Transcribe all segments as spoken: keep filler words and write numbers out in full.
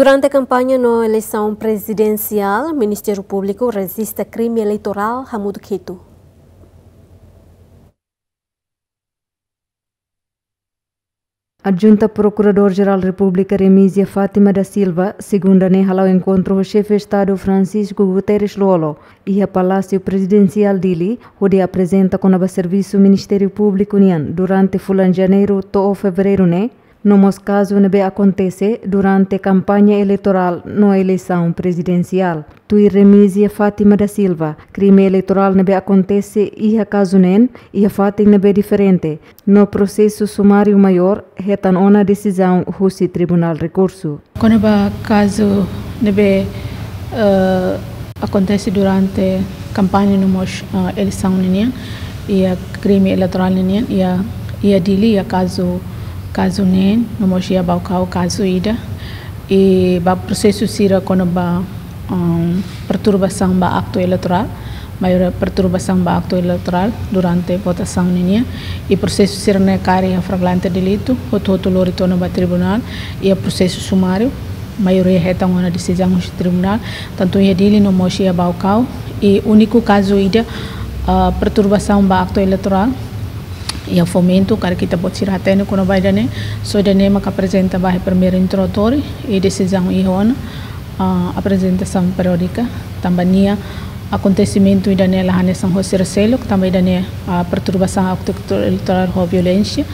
Durante kampaña no eleisaun prezidensiál, Ministériu Públiku rejista krime eleitorál hamutuk hitu. Adjunta Prokuradór-Jerál Repúblika Remízia Fátima da Silva, segunda ne'e hala'o enkontru ho Xefe Estadu Francisco Guterres Lú-Olo, iha Palásiu Prezidensiál Dili, hodi aprezenta kona-ba servisu Ministériu Públiku nian durante fulan Janeiru to'o Fevereiru ne'e, no mós kazu ne'ebé akontese durante kampaña eleitorál no eleisaun prezidensiál. Tuir Remízia Fátima da Silva, krime eleitorál ne'ebé akontese iha kazu neen, iha fatin ne'ebé diferente, no prosesu sumáriu maiór hetan ona desizaun husi Tribunál Rekursu. Kona-ba kazu ne'ebé, eh, akontese durante kampaña no mós, eh, eleisaun ninian, iha krime eleitorál ninian, iha, iha Dili, iha kazu, kazu neen, no mós iha Baucau kazu ida. I ba prosesu sira kona-ba, um, perturbasaun ba aktu eleitorál, maioria perturbasaun ba aktu eleitorál durante votasaun ninian. I prosesu sira-ne'e kaer iha flagrante delitu, hotu-hotu lori to'o ona ba tribunál, iha prosesu sumáriu, maioria hetan ona desizaun husi tribunál, tantu iha Dili no mós iha Baucau. I úniku kazu ida, ah, perturbasaun ba aktu eleitorál, iha Fomento, karik ita-boot sira hatene kona-ba ida-ne'e, só ida-ne'e maka aprezenta ba iha primeiru interlokutór, i desizaun iha ona, ah, aprezentasaun periódika, tanba nia akontesimentu ida-ne'e la hanesan ho sira seluk, tanba ida-ne'e, ah, perturbasaun aktu eleitorál ho violénsia,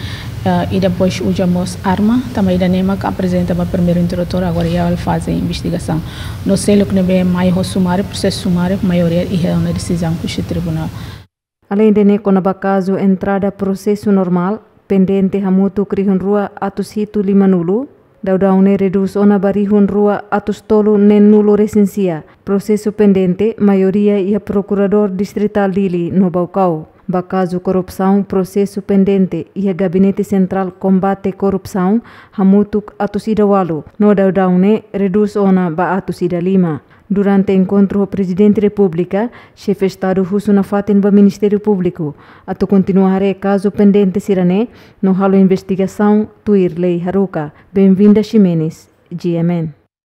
ah, i depois uza mós arma, tanba ida-ne'e maka aprezenta ba primeiru interlokutór, agora iha faze investigasaun. No seluk ne'ebé mai ho sumáriu, prosesu sumáriu, maioria iha ona desizaun husi tribunál. Aleinde ne'e kona-ba kazu entrada prosesu normál, pendente hamutuk rihun rua atus hitu lima-nulu, daudaun ne'e redús ona ba rihun rua atus tolu neen-nulu resin sia. Prosesu pendente, maioria iha Prokuradór Distritál Dili no Baucau. Ba kazu korrupsaun, prosesu pendente iha Gabinete Sentrál Kombate Korrupsaun, hamutuk atus ida ualu, no daudaun ne'e redús ona ba atus ida lima. Durante enkontru ho Prezidente Repúblika, Xefe Estadu husu nafatin ba Ministériu Públiku atu kontinua haree kazu pendente sira-ne'e no halo investigasaun tuir lei haruka. Benvinda Ximenes, G M N.